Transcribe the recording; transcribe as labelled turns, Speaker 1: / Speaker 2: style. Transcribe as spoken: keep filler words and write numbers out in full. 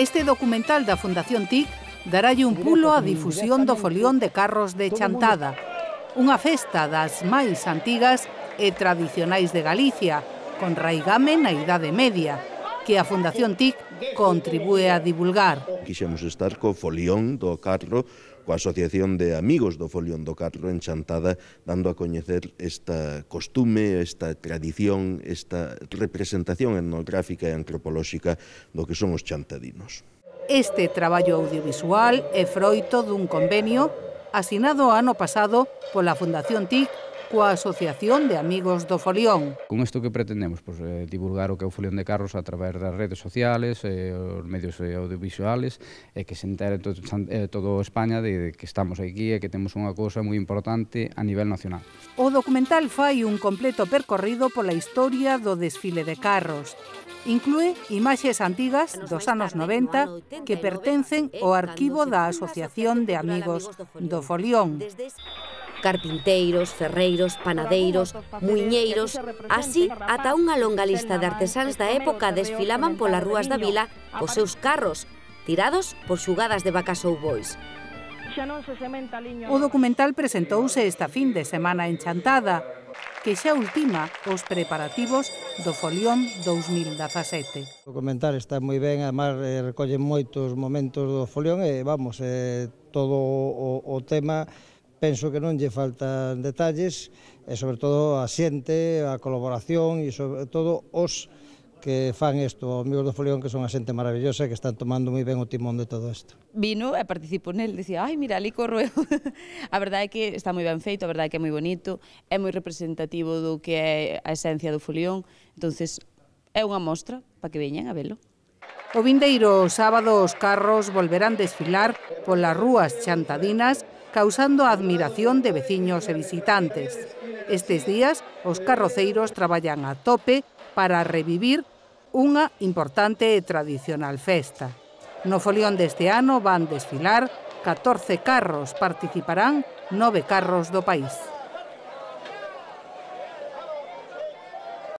Speaker 1: Este documental da Fundación T I C daralle un pulo á difusión do folión de carros de Chantada, unha festa das máis antigas e tradicionais de Galicia, con raigame na Idade Media, que a Fundación T I C contribúe a divulgar.
Speaker 2: Quixemos estar co folión do carro, coa Asociación de Amigos do Folión do Carro en Chantada, dando a coñecer esta costume, esta tradición, esta representación etnográfica e antropolóxica do que son os chantadinos.
Speaker 1: Este traballo audiovisual é froito dun convenio asinado ano pasado pola Fundación T I C coa Asociación de Amigos do Folión.
Speaker 3: Con isto que pretendemos, pues, eh, divulgar o que é o folión de carros a través das redes sociales, eh, os medios eh, audiovisuales, e que se entere todo, eh, todo España de, de que estamos aquí e que temos unha cousa moi importante a nivel nacional.
Speaker 1: O documental fai un completo percorrido pola historia do desfile de carros. Inclúe imaxes antigas dos anos noventa que pertencen ao arquivo da Asociación de Amigos do Folión.
Speaker 4: Carpinteiros, ferreiros, panadeiros, muiñeiros, así ata unha longa lista de artesáns da época desfilaban polas rúas da vila cos seus carros, tirados por xugadas de vacas ou bois.
Speaker 1: O documental presentouse esta fin de semana en Chantada, que xa ultima os preparativos do Folión dous mil dezasete.
Speaker 5: O documental está moi ben, además eh, recolle moitos momentos do Folión e, vamos, eh, todo o, o tema penso que non lle faltan detalles e, sobre todo, a xente, a colaboración e, sobre todo, os que fan isto, Amigos do Folión, que son a xente maravillosa que están tomando moi ben o timón de todo isto.
Speaker 6: Vino e participo nel, dicía, ai, mira, ali corro eu. A verdade é que está moi ben feito, a verdade é que é moi bonito, é moi representativo do que é a esencia do Folión, entonces é unha mostra para que veñan a velo.
Speaker 1: O vindeiro sábado os carros volverán desfilar polas rúas chantadinas, causando a admiración de veciños e visitantes. Estes días, os carroceiros traballan a tope para revivir unha importante e tradicional festa. No Folión deste ano van desfilar catorce carros, participarán nove carros do país.